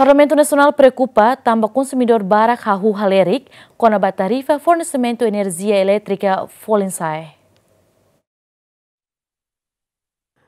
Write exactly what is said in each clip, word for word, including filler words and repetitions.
Parlamentu Nasionál preokupa tanba konsumidór barak hahú halerik kona-ba tarifa fornesimentu enerjia elétrika folin sa'e.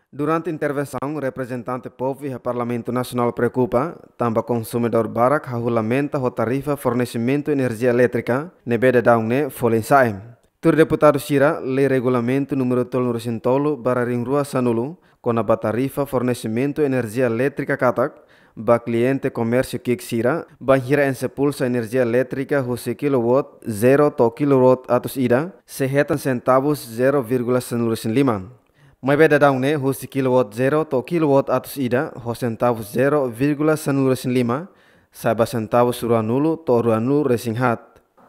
Durante intervensaun, reprezentante povu iha Parlamentu Nasionál preokupa tanba konsumidór barak hahú lamenta ho tarifa fornesimentu enerjia elétrika ne'ebé daudaun ne'e folin sa'e. Tuir deputadu sira, Lei Regulamentu númeru tolunulu-resin-tolu barra rihun rua sanulu, kona-ba tarifa fornesimentu enerjia elétrika katak, ba kliente komérsiu ki'ik sira, bainhira enxe pulsa enerjia elétrika husi kilowatt zero to'o kilowatt atus ida, sei hetan sentavus zero vírgula sanulu-resin-lima. Maibé daudaun ne'e husi kilowatt zero to'o kilowatt atus ida, ho sentavus zero vírgula sanulu-resin-lima, sai ba sentavus ruanulu to'o ruanulu-resin-haat.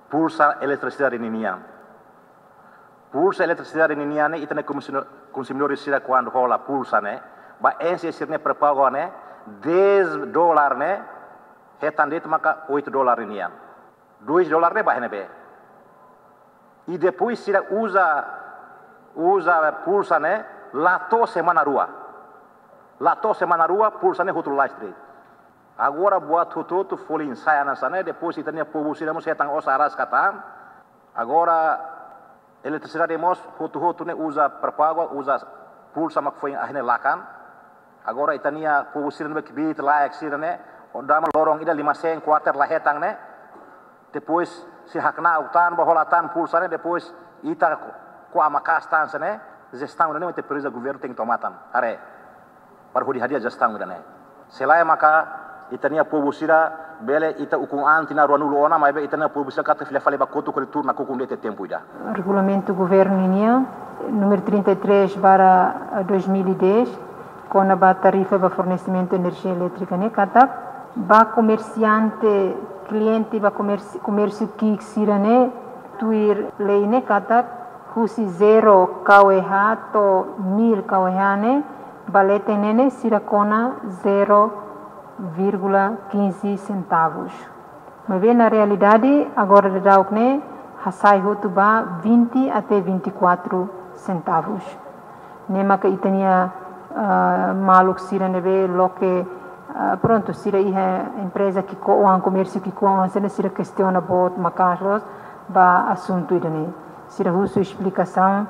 Pulsa eletrisidade ninian. Pulsa eletrisidade ninian ne'e ita-nia konsumidór, konsumidór sira kuandu hola pulsa ne'e, ba enxe sira-nia pré-pagu ne'e, dez dólar ne'e, hetan de'it maka oito dólar ninian. Dois dólar ne'e ba iha ne'ebé. I depois sira uza, uza pulsa ne'e, la to'o semana rua. La to'o semana rua, pulsa ne'e hotu lalais de'it. Agora buat hotu-hotu folin sa'e hanesan ne'e, depois ita-nia povu sira mós hetan osan rasik tan. Agora eletrisidade mós hotu-hotu ne'e uza pré-pagu, uza pulsa mak foin ahi ne'e lakan. Agora ita-nia povu sira ne'ebé kbiit-laek sira ne'e, o dama loron ida lima sen kuarter la hetan ne'e. Depois sira hakna'ak tan, ba hola tan pulsa ne'e, depois ita ko, ko ama kastan sene, jestaun ne'e ita presiza governu tenke toma tan. Haree. Para hodi hadi'a jestaun ida-ne'e. Se lae maka ita-nia povu sira bele ita ukun an tinan ruanulu ona, maibé ita-nia povu sira katak fila fali ba kotuk hodi tuur nakukun de'it iha tempu ida. Regulamentu governu nian, número trinta e três barra dois mil e dez, kona-ba tarifa ba fornesimentu enerjia elétrika ne'e katak, ba komersiante, kliente ba komersi-, komérsiu ki'ik sira ne'e, tuir lei ne'e katak, husi zero kWh to'o mil kWh ne'e, ba leten ne'e ne'e sira kona zero vírgula quinze centavos. Maibé na realidade, agora daudauk ne'e hasai hotu ba vinte até vinte e quatro centavos. Ne'e maka ita-nia, ah, maluk sira ne'ebé loke, ah, prontu, sira iha empreza ki'ik-oan, komérsiu ki'ik-oan, sira, sira kestiona boot maka'as loos ba asuntu ida-ne'e. Sira husu esplikasaun,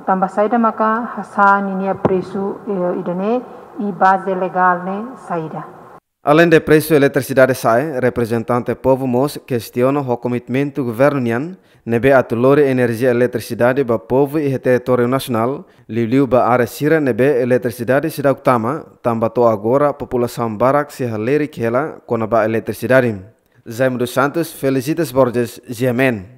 tanba saida maka hasa'e ninia presu, eh, ida-ne'e, i baze legál ne'e saida. Aleinde presu eletrisidade sa'e, reprezentante povu mós kestiona ho komitmentu governu nian, ne'ebé atu lori enerjia eletrisidade ba povu iha territóriu nasionál, liuliu ba área sira ne'ebé eletrisidade seidauk tama, tanba to'o agora populasaun barak sei halerik hela kona-ba eletrisidade. Jaime dos Santos, Felicitas Borges, G M N.